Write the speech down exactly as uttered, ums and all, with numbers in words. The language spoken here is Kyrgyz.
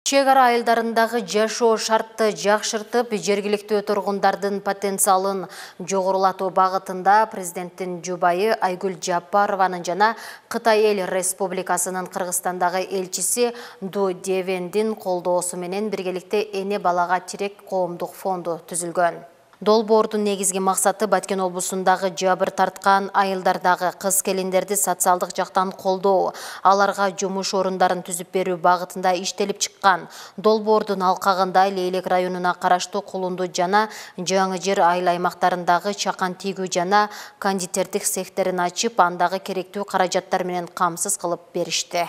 Чек ара айылдарындагы жашоо шартты жакшыртып, жергиликтүү тургундардын потенциалын жогорулатуу багытында президенттин жубайы Айгүл Жапарованын жана Кытай Эл Республикасынын Кыргызстандагы элчиси Ду Девендин колдоосу менен биргеликте Эне балага тирек коомдук фонду түзүлгөн. Долбоордун негизги максаты Баткен облусундагы жабыр тарткан айылдардагы кыз-келиндерди социалдык жактан колдоо, аларга жумуш орундарын түзүп берүү багытында иштелип чыккан. Долбоордун алкагында Лейлек районуна караштуу Кулунду жана Жаңы Жер айыл аймактарындагы чакан тийгүү жана кондитердик цехтерин ачып, андагы керектүү каражаттар менен камсыз кылып беришти.